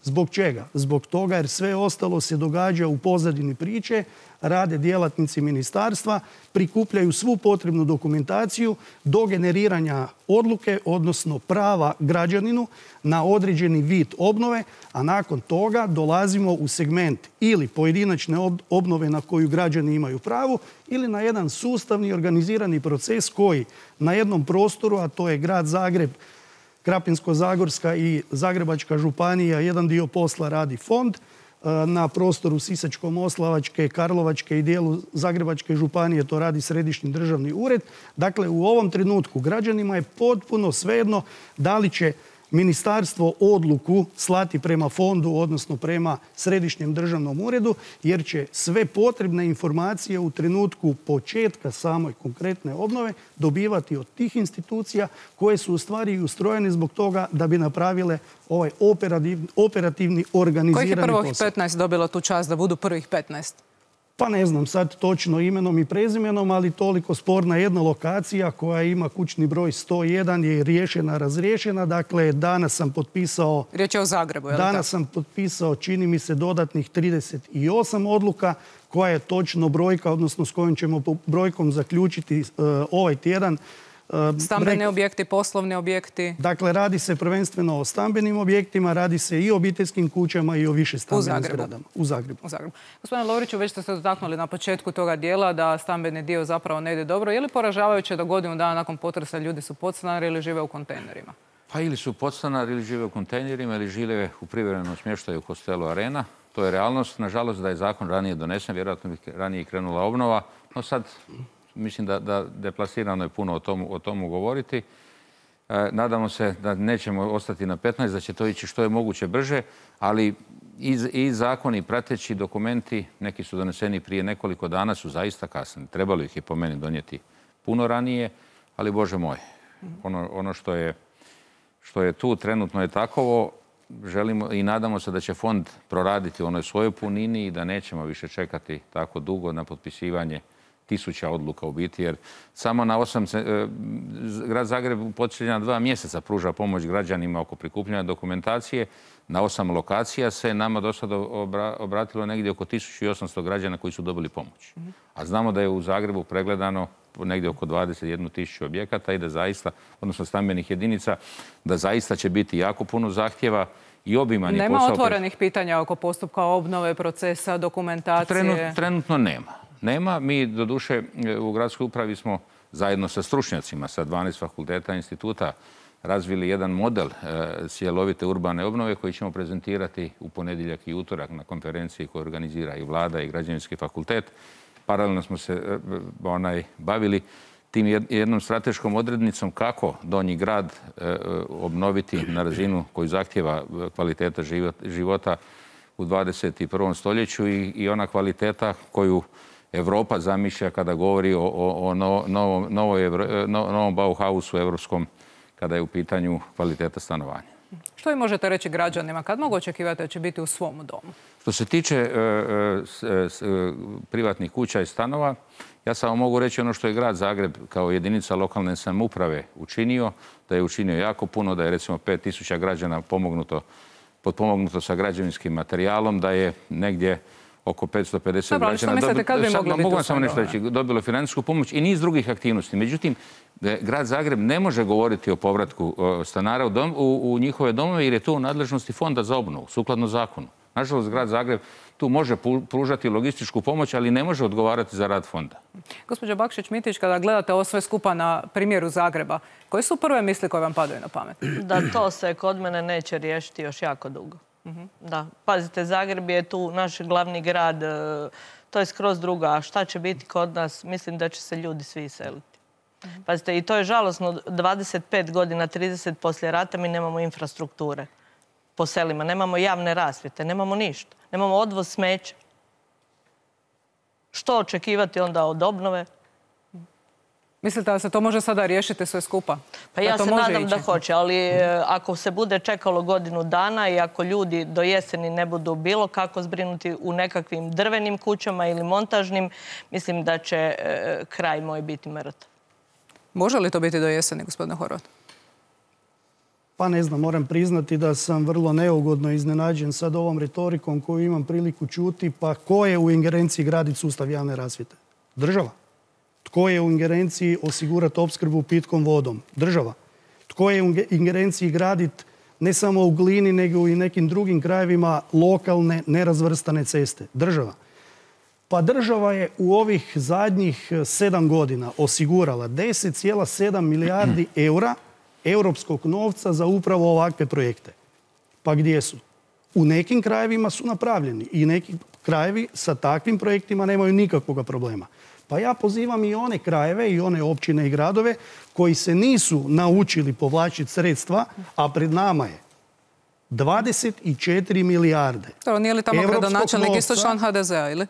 Zbog čega? Zbog toga jer sve ostalo se događa u pozadini priče, rade djelatnici ministarstva, prikupljaju svu potrebnu dokumentaciju do generiranja odluke, odnosno prava građaninu na određeni vid obnove, a nakon toga dolazimo u segment ili pojedinačne obnove na koju građani imaju pravo ili na jedan sustavni organizirani proces koji na jednom prostoru, a to je grad Zagreb, Krapinsko-zagorska i Zagrebačka županija, jedan dio posla radi fond. Na prostoru Sisačko-moslavačke, Karlovačke i dijelu Zagrebačke županije to radi Središnji državni ured. Dakle, u ovom trenutku građanima je potpuno svejedno da li će ministarstvo odluku slati prema fondu, odnosno prema Središnjem državnom uredu, jer će sve potrebne informacije u trenutku početka samoj konkretne obnove dobivati od tih institucija koje su u stvari ustrojene zbog toga da bi napravile ovaj operativni organizirani posao. Kojih je prvih 15 dobilo tu čast da budu prvih 15? Pa ne znam sad točno imenom i prezimenom, ali toliko sporna jedna lokacija koja ima kućni broj 101 je riješena, razriješena. Dakle, danas sam potpisao... Riječ je o Zagrebu, je li tako? Danas sam potpisao, čini mi se, dodatnih 38 odluka, koja je točno brojka, odnosno s kojom ćemo brojkom zaključiti ovaj tjedan. Stambeni objekti, poslovni objekti? Dakle, radi se prvenstveno o stambenim objektima, radi se i o obiteljskim kućama i o više stambenim zgradama. U Zagrebu. Gospodine Lovriću, već ste se dotaknuli na početku toga dijela da stambeni dio zapravo ne ide dobro. Je li poražavajuće da godinu dana nakon potresa ljudi su podstanari ili žive u kontejnerima? Pa ili su podstanari ili žive u kontejnerima ili žive u privremenom smještaju u hostelu Arena. To je realnost. Nažalost, da je zakon ranije donesen, vjerojatno bi ranije krenula obnova. No sad... Mislim da deplasirano je puno o tomu govoriti. Nadamo se da nećemo ostati na 15, da će to ići što je moguće brže, ali i zakoni, prateći dokumenti, neki su doneseni prije nekoliko dana, su zaista kasni. Trebalo ih je po meni donijeti puno ranije, ali Bože moj, ono što je tu trenutno je takovo. Želimo i nadamo se da će fond proraditi u onoj svojoj punini i da nećemo više čekati tako dugo na potpisivanje tisuća odluka u biti, jer samo na grad Zagreb u posljednja 2 mjeseca pruža pomoć građanima oko prikupljanja dokumentacije. Na 8 lokacija se nama do sada obratilo negdje oko 1800 građana koji su dobili pomoć. A znamo da je u Zagrebu pregledano negdje oko 21.000 objekata i da zaista, odnosno stambenih jedinica, da zaista će biti jako puno zahtjeva i obiman je posao. Nema otvorenih pitanja oko postupka obnove, procesa, dokumentacije? Trenutno nema. Nema. Mi, doduše, u gradskoj upravi smo zajedno sa stručnjacima, sa 12 fakulteta i instituta, razvili jedan model cjelovite urbane obnove koji ćemo prezentirati u ponedjeljak i utorak na konferenciji koju organizira i vlada i građevinski fakultet. Paralelno smo se bavili tim jednom strateškom odrednicom kako Donji grad obnoviti na razinu koju zahtjeva kvaliteta života u 21. stoljeću i ona kvaliteta koju Europa zamišlja kada govori o novom Bauhausu evropskom kada je u pitanju kvaliteta stanovanja. Što vi možete reći građanima? Kad mogu očekivati da će biti u svom domu? Što se tiče privatnih kuća i stanova, ja samo mogu reći ono što je grad Zagreb kao jedinica lokalne samouprave učinio, da je učinio jako puno, da je recimo 5000 građana potpomognuto sa građevinskim materijalom, da je negdje oko 550 građana... Što mislite kad bi mogli biti mogu vam samo nešto reći, dobilo financijsku pomoć i niz drugih aktivnosti. Međutim, grad Zagreb ne može govoriti o povratku stanara u njihove domove jer je to u nadležnosti Fonda za obnovu, sukladno zakonu. Nažalost, grad Zagreb tu može pružati logističku pomoć, ali ne može odgovarati za rad fonda. Gospođo Bakšić-Mitić, kada gledate ovo sve skupa na primjeru Zagreba, koje su prve misli koje vam padaju na pamet? Da to se kod mene neće riješiti još jako dugo. Da, pazite, Zagreb je tu naš glavni grad, to je skroz druga. A šta će biti kod nas? Mislim da će se ljudi svi iseliti. Pazite, i to je žalosno, 25 godina, 30 poslije rata mi nemamo infrastrukture po selima, nemamo javne rasvjete, nemamo ništa, nemamo odvoz smeća. Što očekivati onda od obnove? Mislite da se to može sada riješiti sve skupa? Pa ja se nadam da hoće, ali ako se bude čekalo godinu dana i ako ljudi do jeseni ne budu bilo kako zbrinuti u nekakvim drvenim kućama ili montažnim, mislim da će kraj moj biti mrtav. Može li to biti do jeseni, gospodine Horvat? Pa ne znam, moram priznati da sam vrlo neugodno iznenađen sad ovom retorikom koju imam priliku čuti. Pa ko je u ingerenciji graditi sustav javne rasvjete? Država. Tko je u ingerenciji osigurati opskrbu pitkom vodom? Država. Tko je u ingerenciji graditi ne samo u Glini, nego i nekim drugim krajevima lokalne nerazvrstane ceste? Država. Pa država je u ovih zadnjih 7 godina osigurala 10,7 milijardi eura europskog novca za upravo ovakve projekte. Pa gdje su? U nekim krajevima su napravljeni i neki krajevi sa takvim projektima nemaju nikakvog problema. Pa ja pozivam i one krajeve i one općine i gradove koji se nisu naučili povlačiti sredstva, a pred nama je 24 milijarde. Nije li tamo gradonačelnik isto član HDZ-a, ili?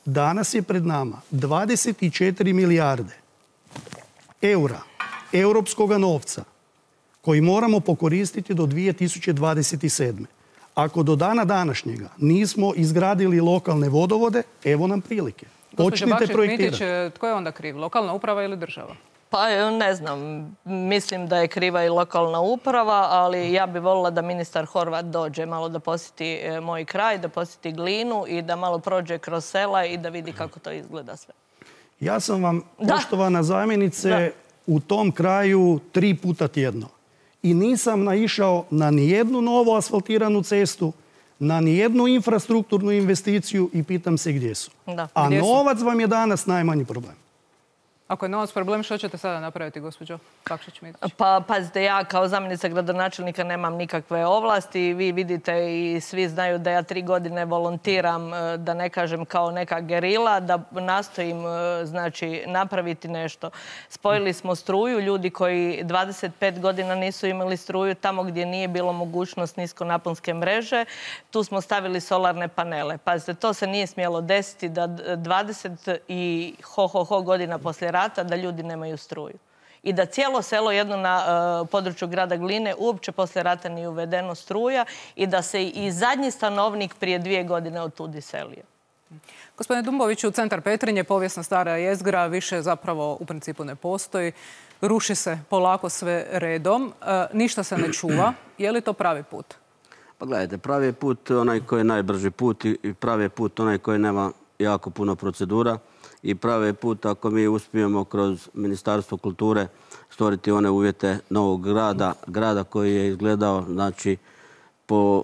Danas je pred nama 24 milijarde eura europskog novca koji moramo pokoristiti do 2027. Ako do dana današnjega nismo izgradili lokalne vodovode, evo nam prilike. Počnite projektirati. Tko je onda kriv? Lokalna uprava ili država? Pa ne znam, mislim da je kriva i lokalna uprava, ali ja bih voljela da ministar Horvat dođe malo da posjeti moj kraj, da posjeti Glinu i da malo prođe kroz sela i da vidi kako to izgleda sve. Ja sam vam, poštovana zamjenice, u tom kraju 3 puta tjedno. I nisam naišao na nijednu novu asfaltiranu cestu, na nijednu infrastrukturnu investiciju i pitam se gdje su. A novac vam je danas najmanji problem. Ako je novac problem, što ćete sada napraviti, gospođo Bakšić-Mitić? Pa pazite, ja kao zamjenica gradonačelnika nemam nikakve ovlasti. Vi vidite i svi znaju da ja 3 godine volontiram, da ne kažem kao neka gerila, da nastojim znači napraviti nešto. Spojili smo struju, ljudi koji 25 godina nisu imali struju, tamo gdje nije bilo mogućnost niskonaponske mreže, tu smo stavili solarne panele. Pazite, to se nije smjelo desiti da 20 i godina poslije rata da ljudi nemaju struju. I da cijelo selo jedno na području grada Gline uopće poslije rata nije uvedeno struja i da se i zadnji stanovnik prije 2 godine otud iselio. Gospodine Dumboviću, centar Petrinje, povijesna stara jezgra, više zapravo u principu ne postoji. Ruši se polako sve redom. Ništa se ne čuva. Je li to pravi put? Pa gledajte, pravi je put onaj koji je najbrži put i pravi je put onaj koji nema jako puno procedura i pravi je put ako mi uspijemo kroz Ministarstvo kulture stvoriti one uvjete novog grada koji je izgledao, znači, po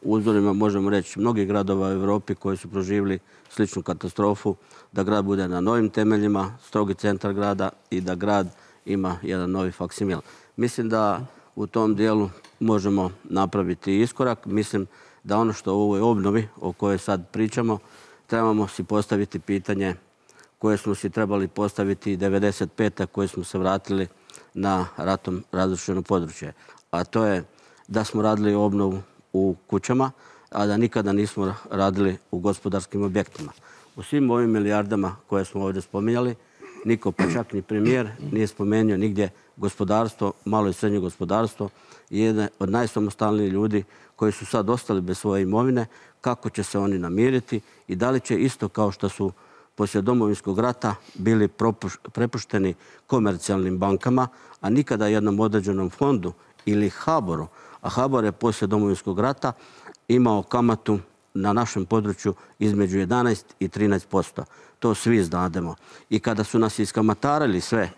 uzorima, možemo reći, mnogih gradova u Europi koji su proživjeli sličnu katastrofu, da grad bude na novim temeljima, strogi centar grada i da grad ima jedan novi faksimil. Mislim da u tom dijelu možemo napraviti iskorak. Mislim da ono što u ovoj obnovi o kojoj sad pričamo, trebamo si postaviti pitanje koje smo si trebali postaviti 1995. koje smo se vratili na ratom razrušeno područje. A to je da smo radili obnovu u kućama, a da nikada nismo radili u gospodarskim objektima. U svim ovim milijardama koje smo ovdje spominjali, niko, pa čak ni premijer, nije spomenuo nigdje gospodarstvo, malo i srednje gospodarstvo, jedne od najsamostalnijih ljudi koji su sad ostali bez svoje imovine, kako će se oni namiriti i da li će isto kao što su poslije Domovinskog rata bili prepušteni komercijalnim bankama, a nikada jednom određenom fondu ili HBOR-u, a HBOR je poslije Domovinskog rata imao kamatu na našem području između 11 i 13%. To svi znademo. I kada su nas iskamatarili sve,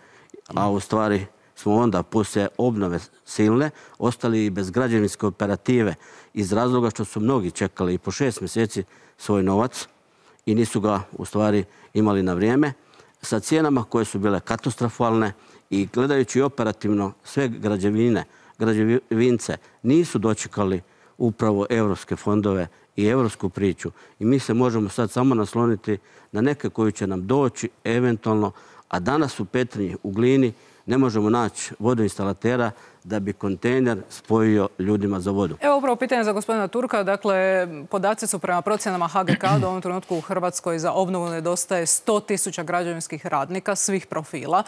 a u stvari smo onda poslije obnove silne ostali i bez građevinske operative iz razloga što su mnogi čekali i po 6 mjeseci svoj novac i nisu ga u stvari imali na vrijeme, sa cijenama koje su bile katastrofalne i gledajući operativno sve građevince nisu dočekali upravo europske fondove i europsku priču. I mi se možemo sad samo nasloniti na neke koji će nam doći eventualno, a danas u Petrinji, u Glini, ne možemo naći vodoinstalatera da bi kontejner spojio ljudima za vodu. Evo upravo pitanje za gospodina Turka. Dakle, podaci su prema procjenama HGK da u ovom trenutku u Hrvatskoj za obnovu nedostaje 100.000 građevinskih radnika svih profila.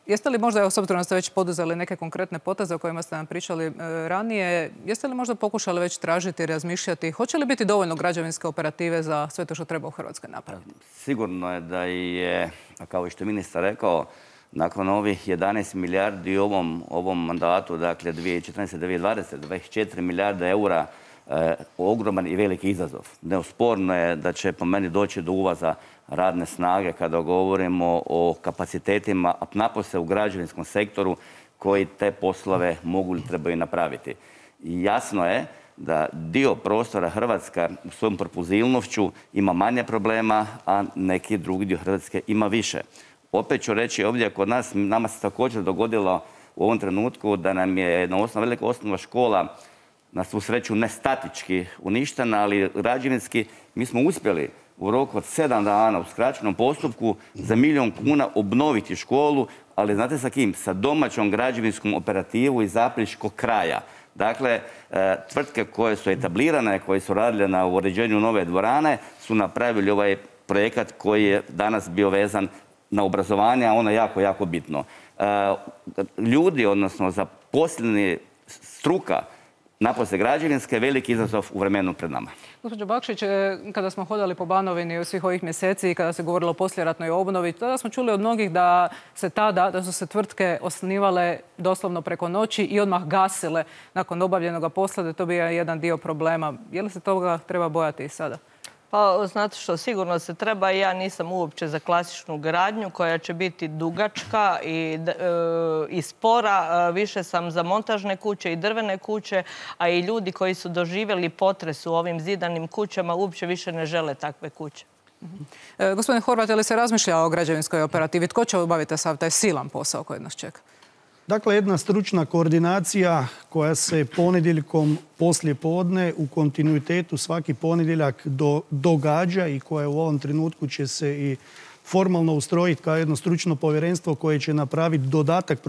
Jeste li možda, s obzirom da ste već poduzeli neke konkretne poteze o kojima ste nam pričali ranije, jeste li možda pokušali već tražiti i razmišljati, hoće li biti dovoljno građevinske operative za sve to što treba u Hrvatskoj napraviti? Sigurno je da je, kao što je ministar rekao, nakon ovih 11 milijardi u ovom mandatu, dakle 2014-2020, 24 milijarde eura, ogroman i veliki izazov. Neosporno je da će po meni doći do uvoza radne snage kada govorimo o kapacitetima, a napose u građevinskom sektoru koji te poslove mogu ili trebaju napraviti. I jasno je da dio prostora Hrvatska u svojom propulzivnošću ima manje problema, a neki drugi dio Hrvatske ima više. Opet ću reći ovdje kod nas, nama se također dogodilo u ovom trenutku da nam je jedna velika osnovna škola, na svu sreću ne statički uništena, ali građevinski, mi smo uspjeli u roku od 7 dana u skraćenom postupku za 1 milijun kuna obnoviti školu, ali znate sa kim? Sa domaćom građevinskom operativu iz Apriškog kraja. Dakle, tvrtke koje su etablirane, koje su radile na uređenju nove dvorane, su napravili ovaj projekat koji je danas bio vezan na obrazovanje, a ono je jako, jako bitno. Ljudi, odnosno zaposleni struka, napose građevinske, veliki izazov u vremenu pred nama. Gospođo Bakšić, kada smo hodali po Banovini u svih ovih mjeseci i kada se govorilo o poslijeratnoj obnovi, tada smo čuli od mnogih da su se tvrtke osnivale doslovno preko noći i odmah gasile nakon obavljenog posla, da to bio jedan dio problema. Je li se toga treba bojati i sada? Pa, znate što, sigurno se treba. Ja nisam uopće za klasičnu gradnju koja će biti dugačka i spora. Više sam za montažne kuće i drvene kuće, a i ljudi koji su doživjeli potres u ovim zidanim kućama uopće više ne žele takve kuće. Gospodine Horvat, je li se razmišlja o građevinskoj operativi? Tko će obaviti sav taj silan posao koji nas čeka? Dakle, jedna stručna koordinacija koja se ponedjeljkom poslije podne u kontinuitetu svaki ponedjeljak događa i koja u ovom trenutku će se i formalno ustrojiti kao jedno stručno povjerenstvo koje će napraviti dodatak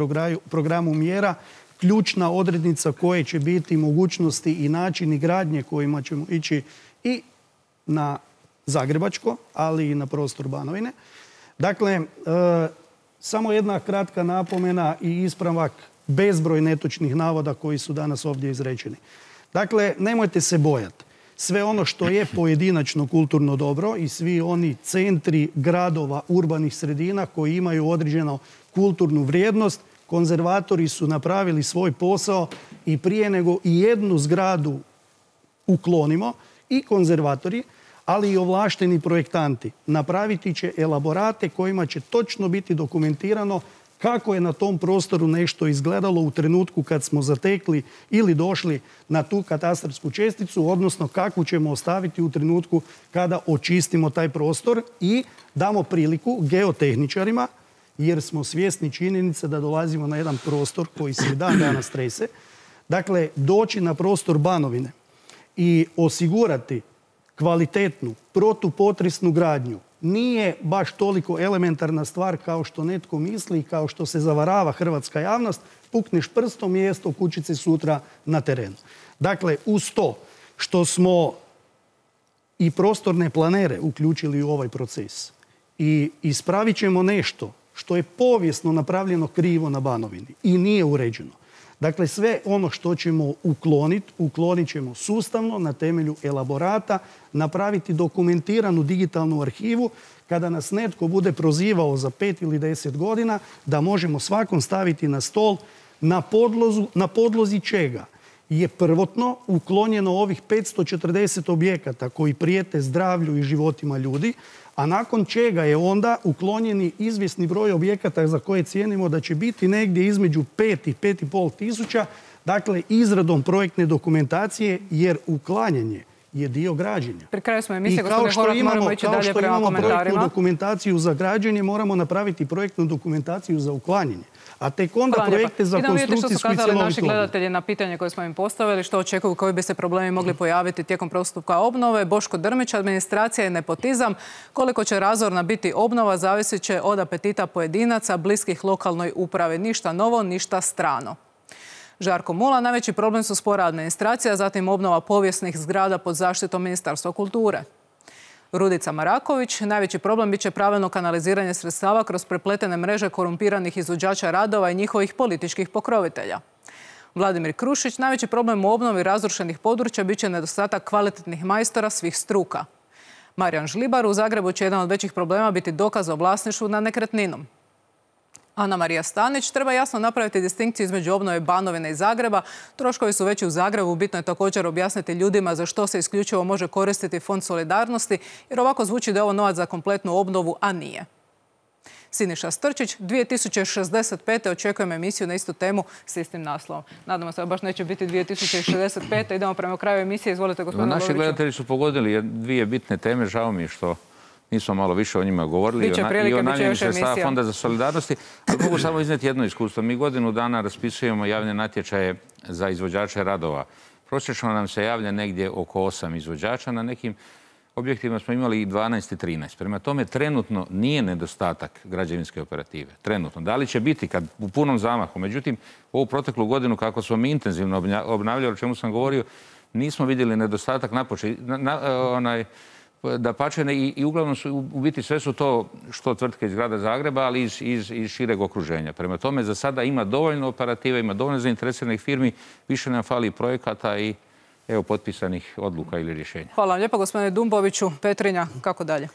programu mjera, ključna odrednica koje će biti mogućnosti i načini gradnje kojima ćemo ići i na Zagrebačko, ali i na prostor Banovine. Dakle, samo jedna kratka napomena i ispravak bezbroj netočnih navoda koji su danas ovdje izrečeni. Dakle, nemojte se bojati. sve ono što je pojedinačno kulturno dobro i svi oni centri gradova, urbanih sredina koji imaju određenu kulturnu vrijednost, konzervatori su napravili svoj posao i prije nego i jednu zgradu uklonimo i konzervatori, ali i ovlašteni projektanti napraviti će elaborate kojima će točno biti dokumentirano kako je na tom prostoru nešto izgledalo u trenutku kad smo zatekli ili došli na tu katastarsku česticu, odnosno kakvu ćemo ostaviti u trenutku kada očistimo taj prostor i damo priliku geotehničarima, jer smo svjesni činjenice da dolazimo na jedan prostor koji se i dan danas trese. Dakle, doći na prostor Banovine i osigurati kvalitetnu protupotresnu gradnju nije baš toliko elementarna stvar kao što netko misli i kao što se zavarava hrvatska javnost. Pukneš prstom, mjesto kućice sutra na terenu. Dakle, uz to što smo i prostorne planere uključili u ovaj proces i ispravit ćemo nešto što je povijesno napravljeno krivo na Banovini i nije uređeno. Dakle, sve ono što ćemo uklonit ćemo sustavno na temelju elaborata, napraviti dokumentiranu digitalnu arhivu. Kada nas netko bude prozivao za 5 ili 10 godina, da možemo svakom staviti na stol na podlozi čega je prvotno uklonjeno ovih 540 objekata koji prijete zdravlju i životima ljudi, a nakon čega je onda uklonjeni izvjesni broj objekata za koje cijenimo da će biti negdje između 5 i 5,5 tisuća, dakle izradom projektne dokumentacije, jer uklanjanje je dio građenja. Pri kraju smo emisije, gospodine Horvat, moramo ići dalje prema komentarima. Projektnu dokumentaciju za građenje, moramo napraviti projektnu dokumentaciju za uklanjanje. A tek onda projekte za konstrukcijsku i cjelovitu obnovu. Idemo vidjeti što su kazali naši gledatelji na pitanje koje smo im postavili, što očekuju, koji bi se problemi mogli pojaviti tijekom postupka obnove. Boško Drmić, administracija i nepotizam. Koliko će razorna biti obnova zavisit će od apetita pojedinaca, bliskih lokalnoj upravi. Ništa novo, ništa strano. Žarko Mula, najveći problem su spora administracija, zatim obnova povijesnih zgrada pod zaštitom Ministarstva kulture. Rudica Maraković, najveći problem bit će pravilno kanaliziranje sredstava kroz prepletene mreže korumpiranih izvođača radova i njihovih političkih pokrovitelja. Vladimir Krušić, najveći problem u obnovi razrušenih područja bit će nedostatak kvalitetnih majstora svih struka. Marijan Žlibar, u Zagrebu će jedan od većih problema biti dokaz o vlasništvu nad nekretninom. Ana Marija Stanić, treba jasno napraviti distinkciju između obnove Banovine i Zagreba. Troškovi su veći u Zagrebu, bitno je također objasniti ljudima za što se isključivo može koristiti Fond solidarnosti, jer ovako zvuči da je ovo novac za kompletnu obnovu, a nije. Siniša Strčić, 2065. očekujem emisiju na istu temu s istim naslovom. Nadamo se da baš neće biti 2065. Idemo prema kraju emisije. Izvolite, gospodine Boroviću. Naši gledatelji su pogodili dvije bitne teme. Žao mi je što nismo malo više o njima govorili i o namjeni sredstava Fonda za solidarnosti. Ali mogu samo iznijeti jedno iskustvo. Mi godinu dana raspisujemo javne natječaje za izvođače radova. Prosječno nam se javlja negdje oko 8 izvođača. Na nekim objektima smo imali i 12 i 13. Prema tome, trenutno nije nedostatak građevinske operative. Trenutno. Da li će biti kad u punom zamahu? Međutim, ovu proteklu godinu kako smo mi intenzivno obnavljali, o čemu sam govorio, nismo vidjeli nedostatak dapače, i uglavnom su u biti sve su to što tvrtke iz grada Zagreba, ali iz šireg okruženja. Prema tome, za sada ima dovoljno operative, ima dovoljno zainteresiranih firmi, više nam fali projekata i evo potpisanih odluka ili rješenja. Hvala vam lijepo, gospodine Dumboviću. Petrinja, kako dalje?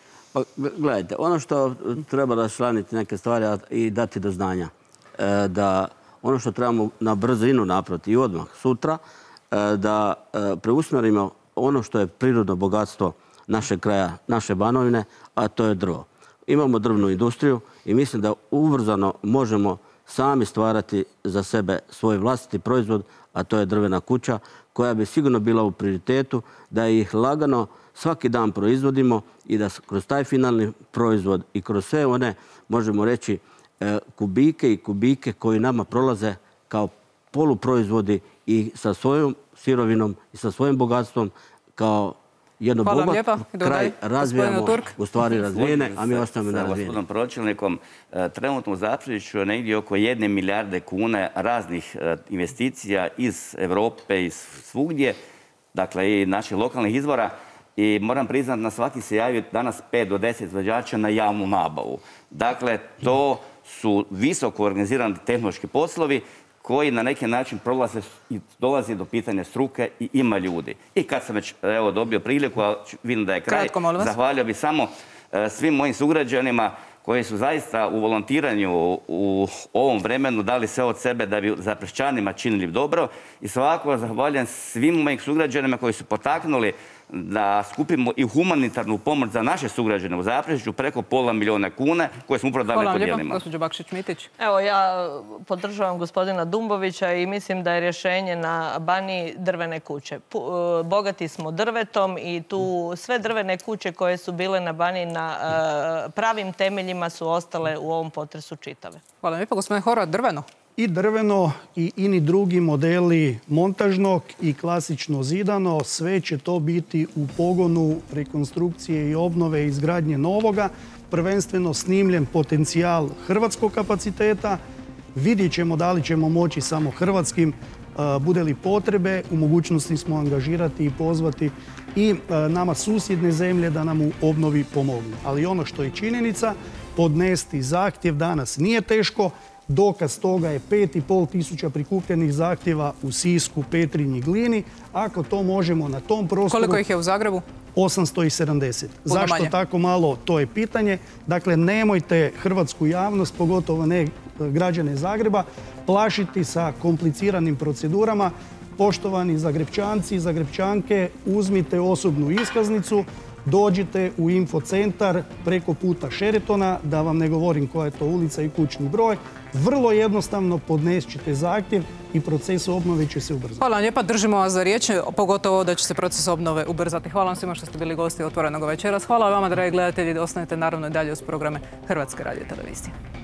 Gledajte, ono što treba raščlaniti neke stvari i dati do znanja, da ono što trebamo na brzinu napraviti i odmah sutra, da preusmjerimo ono što je prirodno bogatstvo našeg kraja, naše Banovine, a to je drvo. Imamo drvnu industriju i mislim da ubrzano možemo sami stvarati za sebe svoj vlastiti proizvod, a to je drvena kuća, koja bi sigurno bila u prioritetu, da ih lagano svaki dan proizvodimo i da kroz taj finalni proizvod i kroz sve one, možemo reći, kubike i kubike koji nama prolaze kao poluproizvodi i sa svojom sirovinom i sa svojim bogatstvom kao jedno bogat kraj razvijamo, u stvari razvijene, a mi ostajemo nerazvijeni. S gospodinom pročelnikom, trenutno u Zapruđiću negdje oko 1 milijarde kuna raznih investicija iz Europe i svugdje, dakle i naših lokalnih izvora. I moram priznati, na svaki se javi danas 5 do 10 izvođača na javnu nabavu. Dakle, to su visoko organizirani tehnološki poslovi koji na neki način prolaze i dolazi do pitanja struke i ima ljudi. I kad sam već dobio priliku, a vidim da je kraj, zahvalio bih samo svim mojim sugrađanima koji su zaista u volontiranju u ovom vremenu dali sve od sebe da bi Zaprešićanima činili dobro. I svakako zahvaljujem svim mojim sugrađanima koji su potaknuli da skupimo i humanitarnu pomoć za naše sugrađane u Zaprešiću preko £500.000 kuna koje smo upravo dali podijelima. Hvala vam lijepo, gospođo Bakšić-Mitić. Evo, ja podržavam gospodina Dumbovića i mislim da je rješenje na Baniji drvene kuće. Bogati smo drvetom i tu sve drvene kuće koje su bile na Baniji na pravim temeljima su ostale u ovom potresu čitave. Hvala lijepo, gospodine Horvat, drveno? I drveno i ini drugi modeli montažnog i klasično zidano, sve će to biti u pogonu rekonstrukcije i obnove i izgradnje novoga, prvenstveno snimljen potencijal hrvatskog kapaciteta. Vidjet ćemo da li ćemo moći samo hrvatskim, bude li potrebe, u mogućnosti smo angažirati i pozvati i nama susjedne zemlje da nam u obnovi pomognu. Ali ono što je činjenica, podnesti zahtjev danas nije teško. Dokaz toga je 5.500 prikupljenih zahtjeva u Sisku, Petrinji, Glini. Ako to možemo na tom prostoru... Koliko ih je u Zagrebu? 870. Zašto tako malo, to je pitanje. Dakle, nemojte hrvatsku javnost, pogotovo ne građane Zagreba, plašiti sa kompliciranim procedurama. Poštovani Zagrebčanci i Zagrebčanke, uzmite osobnu iskaznicu, dođite u infocentar preko puta Šeretona, da vam ne govorim koja je to ulica i kućni broj. Vrlo jednostavno podnesite zahtjev i proces obnove će se ubrzati. Hvala vam lijepa, držimo vas za riječ, pogotovo da će se proces obnove ubrzati. Hvala vam svima što ste bili gosti Otvorenog večeras. Hvala vama, dragi gledatelji, da ostanete naravno i dalje uz programe Hrvatske radiotelevizije.